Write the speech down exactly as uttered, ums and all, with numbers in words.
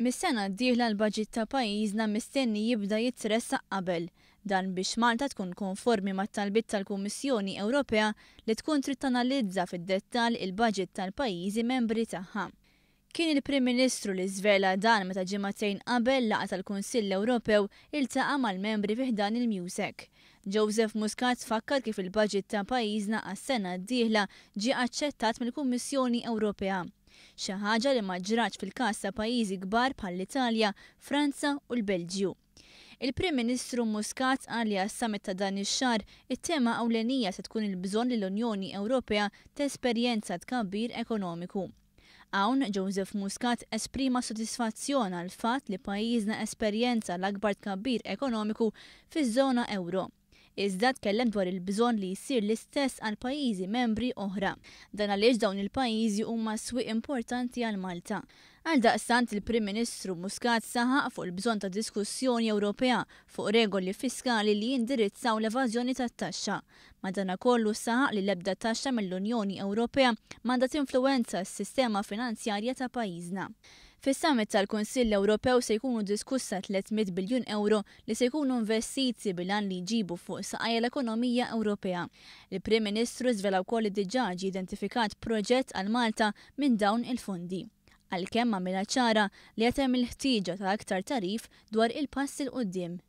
Mis-sena d-dieħla l-baġit ta' pajjiżna mistenni jibda jitressaq qabel. Dan biex Malta tkun konformi mat-talbiet tal-Kummissjoni Ewropea li tkun trid tanalizza fid-dettall il-baġit tal-pajjiżi membri tagħha. Kien il-Prim Ministru li żvela dan meta ġimagħtejn qabel laqgħa tal-Kunsill Ewropew iltaqa' mal-membri fi ħdan il-MEUSAC. Joseph Muscat fakkar kif il-baġit ta' pajjiżna għas-sena d-dieħla ġie aċċettat mill-Kummissjoni Ewropea. Xi ħaġa li ma ġratx fil-każ ta' pajjiżi kbar bħall-Italja, Franza u l-Belġju. Il-Prim Ministru Muscat qal li għas-summit ta' dan ix-xahar it-tema ewlenija se tkun il-bżonn li l-Unjoni Ewropea tesperjenza tkabbir ekonomiku. Hawn Joseph Muscat esprima sodisfazzjon għall-fatt li pajjiżna esperjenza l-akbar tkabbir ekonomiku fiż-żona ewro. Iżda tkellem dwar il-bżonn li jsir l-istess għal pajjiżi membri oħra. Dan għaliex dawn il-pajjiżi huma swieq importanti għal Malta. Għaldaqstant il-Prim Ministru Muscat saħaq fuq il-bżonn ta' diskussjoni Ewropea fuq regoli fiskali li jindirizzaw l-evażjoni tat-taxxa. Madanakollu saħaq li l-ebda taxxa mill-Unjoni Ewropea m'għandha tinfluwenza s-sistema finanzjarja ta' pajjiżna. Fis-summit tal-Kunsill Ewropew se jkunu diskussa tliet mitt biljun euro li se jkunu investiti bil-għan li jġibu fuq saqajja l-ekonomija Ewropea. Il-Prim Ministru żvela wkoll li diġà ġie identifikat proġett għal Malta minn dawn il-fondi. Għalkemm għamilha ċara li qed hemm il-ħtieġa ta' aktar tagħrif dwar il-pass 'il quddiem.